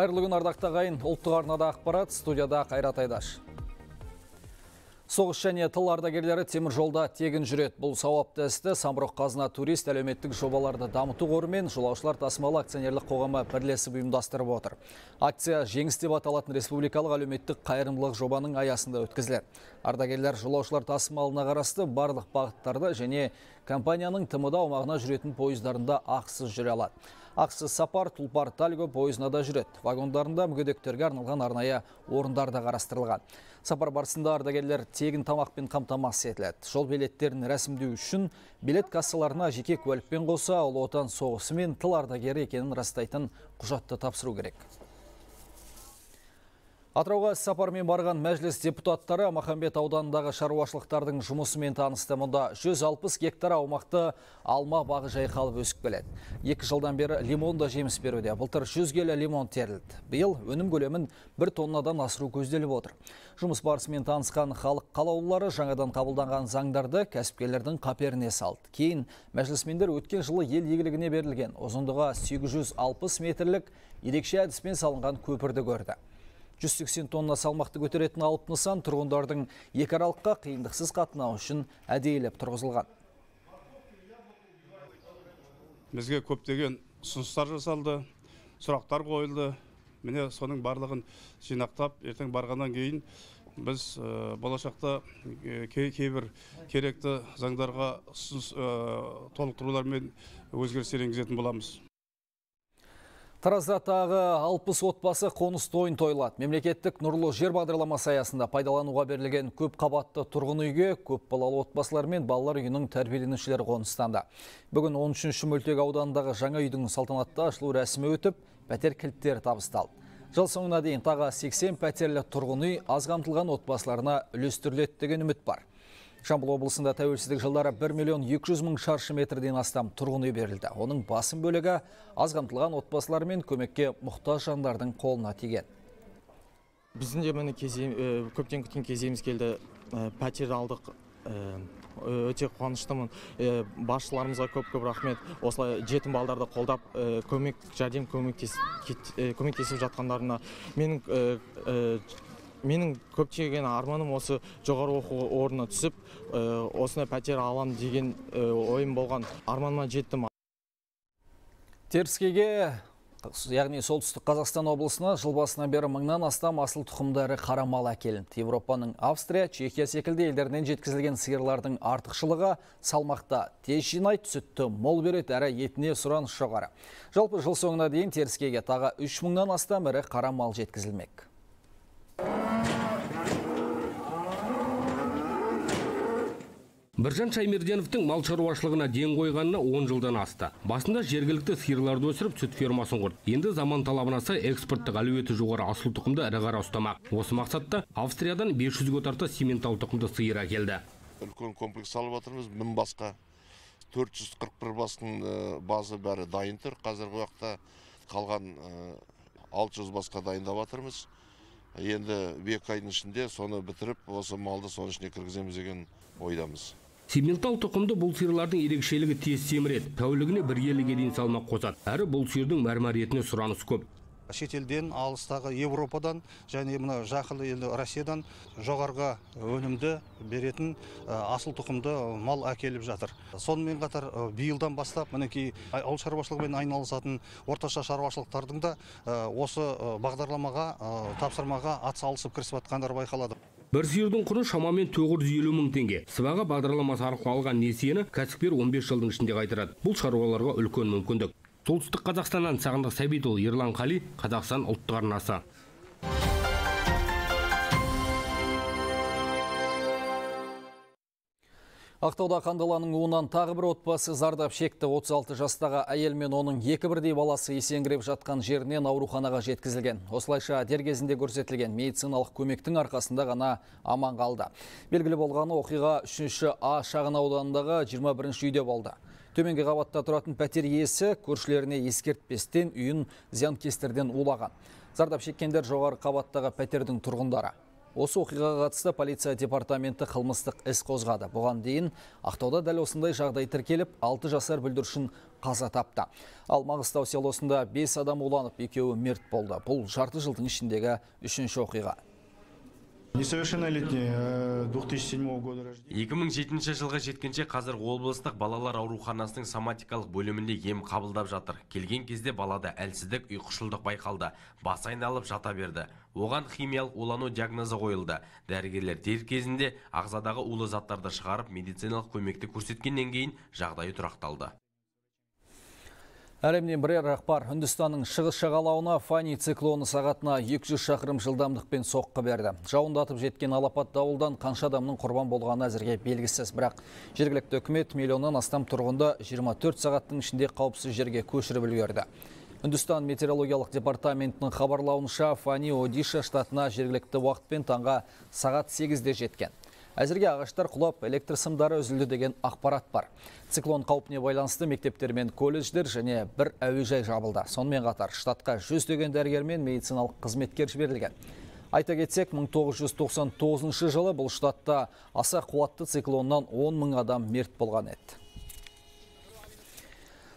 Қайырлы күн ардақты ағайын, ұлттық арнада ақпарат, студияда Қайрат Айдаш. Соғыс және тыл ардагерлері темір жолда тегін жүреді. Бұл сауапты істі Самұрық Қазына турист әлеуметтік жобаларды дамыту қоры мен жолаушылар тасымалы акционерлік қоғамы бірлесіп ұйымдастырып отыр. Акция жеңіс деп аталатын республикалық әлеуметтік қайырымдылық жобаның аясында өткізіледі. Ардагерлер жолаушылар тасымалына қарасты барлық бағыттарды және компанияның ТМД аумағына жүретін пойыздарында ақысыз жүре алады. Ақысыз сапар Тұлпар Тальго пойызына да жүреді. Вагондарында мүгедектерге арналған арнайы орындар да қарастырылған. Сапар барысында ардагерлер тегін тамақпен қамтамасыз етіледі. Жол билеттерін рәсімдеу үшін билет кассаларына жеке куәлікпен қоса Ұлы Отан соғысы мен тыл ардагері екенін растайтын құжатты тапсыру керек. Атырауға сапармен барған мәжіліс депутаттары Махамбет ауданындағы шаруашылықтардың жұмысымен танысты. Мұнда 160 гектар аумақты алма бағы жайқалып өсіп келеді. 2 жылдан бері лимон да жеміс беруде. Былтыр 100 келі лимон терілді. Биыл өнім көлемін 1 тоннадан асыру көзделіп отыр. Жұмыс барысымен танысқан халық қалаулылары жаңадан қабылданған заңдарды кәсіпкерлердің қаперіне салды. Кейін мәжілісмендер өткен жылы ел игілігіне берілген ұзындығы 860 метрлік ерекше әдіспен салынған көпірді көрді. 180 тонна салмақты көтеретін алып нысан тұрғындардың екі аралыққа қиындықсыз қатынау үшін әдейілеп тұрғызылған. Бізге көптеген ұсыныстар жасалды, сұрақтар қойылды. Міне соның барлығын жинақтап, ертең барғаннан кейін біз болашақта кейбір керекті заңдарға толықтырулар мен өзгерістер енгізетін боламыз. Таразда тағы 60 отбасы қоныс тойын тойлады. Мемлекеттік нұрлы жер бағдарламасы аясында пайдалануға берілген көп қабатты тұрғын үйге көп балалы отбасылар мен балалар үйінің тәрбиеленушілері қоныстанды. Бүгін 13-ші мөлтек ауданындағы жаңа үйдің салтанатты ашылу рәсімі өтіп, пәтер кілттері табысталды. Жыл соңына дейін тағы 80 пәтерлі тұрғын үй аз қамтылған отбасыларына үлестіріледі деген үміт бар. Жамбыл облысында тәуелсіздік жылдары 1 миллион 200 мың шаршы метрден астам тұрғын үй берілді. Оның басым бөлігі аз қамтылған отбасылар мен көмекке мұқтаж жандардың қолына тиген. Біздің де міне көптен күткен кезегіміз келді. Пәтер алдық. Өте қуаныштымын. Басшыларымызға көп рахмет. Осылай жетім балдарды қолдап, көмектесіп жатқандарына менің көптеген арманым осы жоғары оқу орнына түсіп, осына пәтер алам деген ойым болған. Арманыма жеттім. Теріскейге, яғни солтүстік Қазақстан облысына жыл басынан бері 1000-нан астам асыл тұқымдары қара мал әкелінді. Европаның Австрия, Чехия секілді елдерінен жеткізілген сиырлардың артықшылығы салмақта тез жинайды, сүтті мол береді, әрі етіне сұраныс жоғары. Жалпы жыл соңына дейін Теріскейге тағы 3000-нан астам ірі қара мал жеткізілмек. Біржан Шаймерденовтың мал шаруашылығына ден қойғанына 10 жылдан асты. Басында жергілікті сиырларды өсіріп сүт фермасын құрды. Енді заман талабына сай экспорттық әлеуеті жоғары асыл тұқымды ірі қара ұстамақ. Осы мақсатта Австриядан 500-ге тарта симментал тұқымды сиыр әкелді. Үлкен комплекс салып жатырмыз, 1000 басқа 441 бастың базы бәрі дайын тұр. Қазіргі уақытта қалған 600 басқа дайындап жатырмыз. Енді 2 айдың ішінде соны бітіріп, осы малды соның ішіне кіргіземіз деген ойдамыз. Симментал тұқымды бұл сиырлардың ерекшелігі тез семіреді. Тәулігіне 1 келіге дейін салмақ қосады. Әрі бұл сиырдың мәрмәр етіне сұраныс көп. Шетелден, алыстағы Европадан және мына жақын елді Россиядан жоғарғы өнімді беретін асыл тұқымды мал әкеліп жатыр. Сонымен қатар биылдан бастап мінекей ауыл шаруашылығымен айналысатын орташа шаруашылықтардың да осы бағдарламаға, тапсырмаға атсалысып кірісіп жатқандары байқалады. Бір сиырдың құны шамамен 950 мың теңге. Сыбаға бағдарламасы арқылы алған несиені кәсіпкер 15 жылдың ішінде қайтарады. Бұл шаруаларға үлкен мүмкіндік. Солтүстік Қазақстаннан Сағындық Сәбитұлы, Ерлан Қали, Қазақстан ұлттық арнасы. Ақтауда қандаланың уынан тағы бір отбасы зардап шекті. 36 жастағы әйел мен оның 2 бірдей баласы есеңгіреп жатқан жерінен ауруханаға жеткізілген. Осылайша дер кезінде көрсетілген медициналық көмектің арқасында ғана аман қалды. Белгілі болғаны оқиға 3-ші А шағын ауданындағы 21-ші үйде болды. Төменгі қабатта тұратын пәтер иесі көршілеріне ескертпестен үйін зиянкестерден улаған. Зардап шеккендер жоғары қабаттағы пәтердің тұрғындары. Осы оқиғаға қатысты полиция департаменті қылмыстық іс қозғады. Бұған дейін Ақтауда дәл осындай жағдай тіркеліп, 6 жасар бүлдіршін қаза тапты. Ал Маңғыстау селосында 5 адам уланып, 2-і мерт болды. Бұл жарты жылдың ішіндегі 3-ші оқиға. Несовершеннолетний 2007 года рождения. 2007 жылға жеткенше қазір облыстық балалар ауруханасының соматикалық бөлімінде ем қабылдап жатыр. Келген кезде балада әлсіздік, ұйқышылдық байқалды. Бас айналып жата берді. Оған химиялық улану диагнозы қойылды. Дәрігерлер дер кезінде ағзадағы улы заттарды шығарып, медициналық көмекті көрсеткеннен кейін жағдайы тұрақталды. Әлемнен бірер ақпар. Үндістанның шығыс жағалауына Фани циклоны сағатына 200 шақырым жылдамдықпен соққы берді. Жауындатып жеткен алапат дауылдан қанша адамның құрбан болғаны әзірге белгісіз, бірақ жергілікті үкімет миллионнан астам тұрғынды 24 сағаттың ішінде қауіпсіз жерге көшіріп үлгерді. Үндістан метеорологиялық департаментінің хабарлауынша Фани Одиша штатына жергілікті уақытпен таңға сағат 8-де жеткен. Әзірге ағаштар құлап, электр сымдары үзілді деген ақпарат бар. Циклон қаупіне байланысты мектептер мен колледждер және бір әуежай жабылды. Сонымен қатар штатқа 100 дәрігер мен медициналық қызметкер жіберілген. Айта кетсек, 1999 жылы бұл штатта аса қуатты циклоннан 10 000 адам мерт болған еді.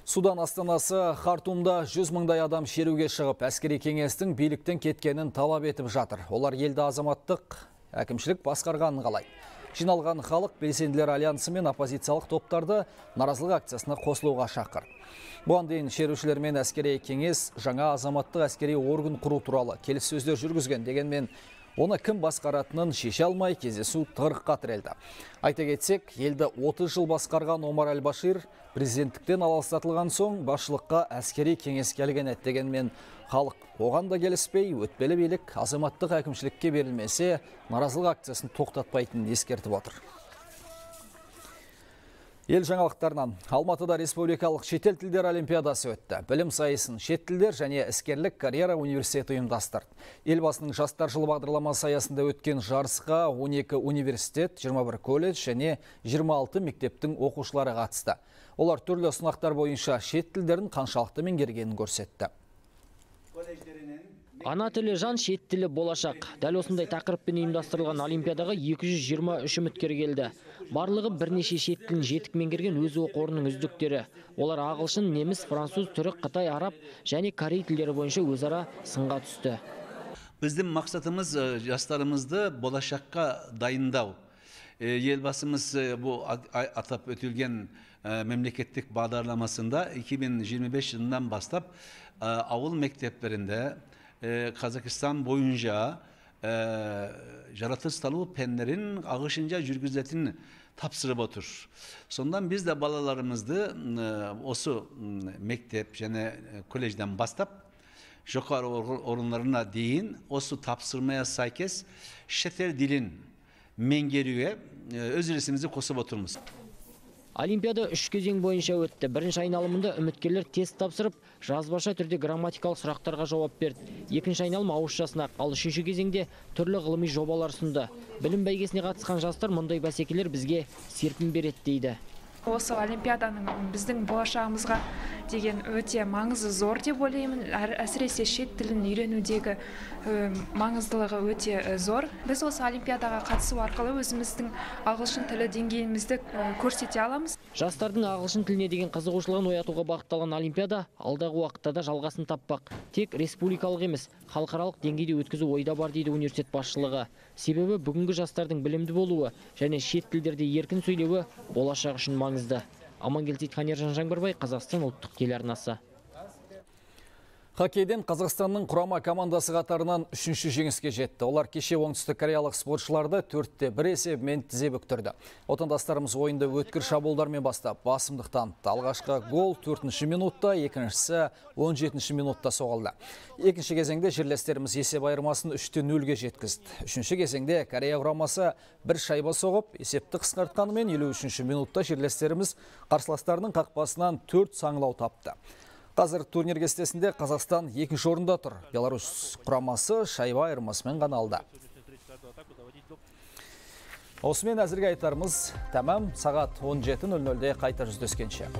Судан астанасы Хартумда 100 000 адам шеруге шығып, әскери кеңестің биліктен кеткенін талап етіп жатыр. Олар елді азаматтық әкімшілік басқарғанын қалайды. Жиналған халық белсенділер альянсы мен оппозициялық топтарды наразылық акциясына қосылуға шақыр. Бұған дейін шерушілер мен әскери кеңес жаңа азаматтық әскери орган құру туралы келіссөздер жүргізген, дегенмен оны кім басқаратынын шеше алмай кездесу тығырыққа тірелді. Айта кетсек, елді 30 жыл басқарған Омар Аль-Башир президенттіктен аластатылған соң басшылыққа әскери кеңеске келген еді, дегенмен халық оған да келіспей, өтпелі билік азаматтық әкімшілікке берілмесе, наразылық акциясын тоқтатпайтынын ескертіп отыр. Ел жаңалықтарынан. Алматыда республикалық шетел тілдер олимпиадасы өтті. Білім сайысын шет тілдер және іскерлік карьера университеті ұйымдастырды. Елбасының жастар жылы бағдарламасы аясында өткен жарысқа 12 университет, 21 колледж және 26 мектептің оқушылары қатысты. Олар түрлі сынақтар бойынша шет тілдерін қаншалықты меңгергенін көрсетті. Ана тілі жан, шет тілі болашақ. Дәл осындай тақырыппен ұйымдастырылған олимпиадаға 223 үміткер келді. Барлығы бірнеше шет тілін жетік меңгерген өз оқу орнының үздіктері. Олар ағылшын, неміс, француз, түрік, қытай, араб және корей тілдері бойынша өзара сынға түсті. Біздің мақсатымыз жастарымызды болашаққа дайындау. Елбасымыз бұл атап өтілген мемлекеттік бағдарламасында 2025 жылынан бастап ауыл мектептерінде Қазақстан бойынша жаратылыстану пәндерін ағылшынша жүргізетін тапсырып отыр. Сондан біз де балаларымызды осы мектеп және колледжден бастап жоғары орындарына дейін осы тапсырмaya сәйкес шетел тілін меңгеруге өз үлесімізді қосып отырмыз. Олимпиада 3 кезең бойынша өтті. Бірінші айналымында үміткерлер тест тапсырып, жазбаша түрде грамматикалық сұрақтарға жауап берді. Екінші айналым ауызша сынақ, ал үшінші кезеңде түрлі ғылыми жобалар ұсынды. Білім бәйгесіне қатысқан жастар мұндай бәсекелер бізге серпін береді дейді. Осы олимпиаданың біздің болашағымызға деген өте маңызы зор деп ойлаймын. Әсіресе шет тілін үйренудегі маңыздылығы өте зор. Біз осы олимпиадаға қатысу арқылы өзіміздің ағылшын тілі деңгейімізді көрсете аламыз. Жастардың ағылшын тіліне деген қызығушылығын оятуға бағытталған олимпиада алдағы уақытта да жалғасын таппақ. Тек республикалық емес, халықаралық деңгейде өткізу ойда бар дейді университет басшылығы. Себебі бүгінгі жастардың білімді болуы және шет тілдерде еркін сөйлеуі болашақ үшін маңызды. Амангелді Сейтханер, Жаңбырбай, Қазақстан ұлттық телеарнасы. Хоккейден Қазақстанның құрама командасы қатарынан 3-ші жеңіске жетті. Олар кеше оңтүстік кореялық спортшыларды 4-1 есебімен тізе бүктірді. Отандастарымыз ойынды өткір шабуылдармен бастап басымдық танытты. Алғашқы гол 4-ші минутта, екіншісі 17-ші минутта соғылды. Екінші кезеңде жерлестеріміз есеп айырмасын 3-0-ге жеткізді. Үшінші кезеңде Корея құрамасы бір шайба соғып, есепті қысқартқанымен 53-ші минутта жерлестеріміз қарсыластарының қақпасынан 4 саңылау тапты. Қазір турнир кестесінде Қазақстан 2-ші орында тұр. Беларусь құрамасы шайба айырмасымен ғана алды. Осымен әзірге айтарымыз тәмам. Сағат 17:00-де қайта жүздескенше.